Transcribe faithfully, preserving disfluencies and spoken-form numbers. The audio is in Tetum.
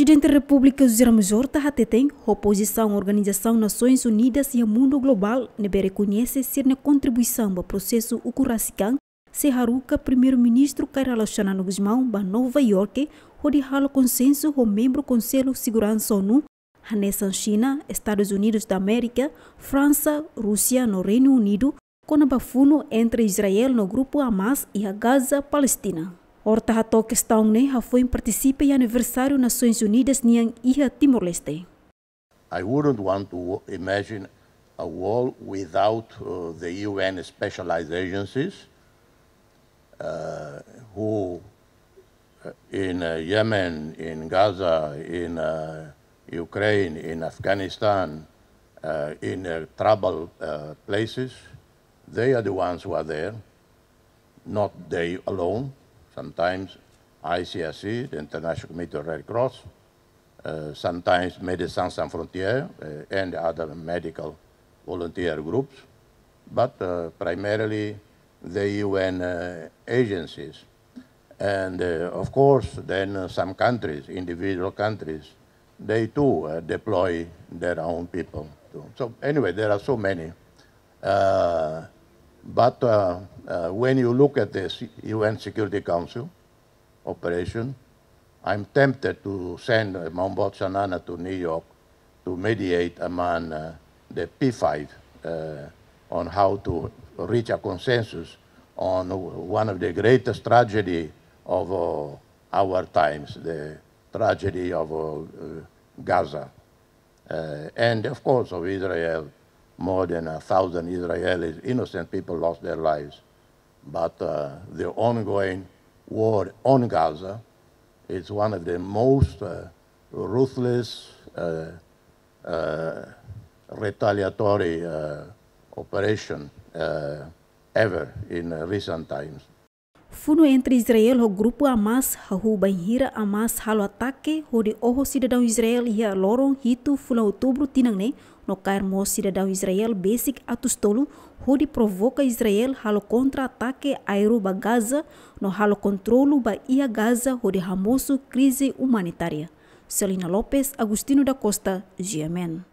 Prezidente Repúblika José Ramos Horta hateten, ho pozisaun Organizasaun Nasoins Unidas iha mundu globál ne'ebé rekoñese sira-nia kontribuisaun ba prosesu ukun rasik an, sei haruka Primeiru-Ministru Kay Rala Xanana Gusmão ba Nova Iorke, hodi halo konsensu ho membru Konsellu Seguransa ONU, hanesan Xina, Estadus Unidus da Amérika, Fransa, Rúsia no Reinu Unidu, kona-ba funu entre Israel no grupu Hamas iha Gaza, Palestina. Horta hato'o kestaun ne'e hafoin partisipa iha aniversáriu Nasoins Unidas nian iha Timor-Leste. I wouldn't want to imagine a world without, uh, the U N specialized agencies, uh, who, uh, in, uh, Yemen, in Gaza, in, uh, Ukraine, in Afghanistan, uh, in, uh, trouble, uh, places, they are the ones who are there, not they alone. Sometimes I C R C, the International Committee of Red Cross, uh, sometimes Médecins Sans Frontières, uh, and other medical volunteer groups, but, uh, primarily the U N, uh, agencies. And, uh, of course, then, uh, some countries, individual countries, they too, uh, deploy their own people too. So anyway, there are so many. Uh, but, uh, uh, when you look at the C-, U N Security Council operation, I'm tempted to send, uh, Maun Boot Xanana to New York to mediate among, uh, the P five, uh, on how to reach a consensus on one of the greatest tragedy of, uh, our times, the tragedy of, uh, uh, Gaza. Uh, and of course of Israel, more than a thousand Israelis, innocent people lost their lives. But, uh, the ongoing war on Gaza is one of the most, uh, ruthless, uh, uh, retaliatory, uh, operation, uh, ever in, uh, recent times. Funu entre Israel ho grupu Hamas hahú bainhira Hamas halo atake hodi oho sidadaun Israel iha loron hitu fulan Outubru tinan ne'e, no kaer mós sidadaun Israel besik atus tolu, hodi provoka Israel halo kontra-atake aéreu ba Gaza, no halo kontrolu ba iha Gaza hodi hamosu krize umanitária. Celina Lopes, Agostinho da Costa, G M N.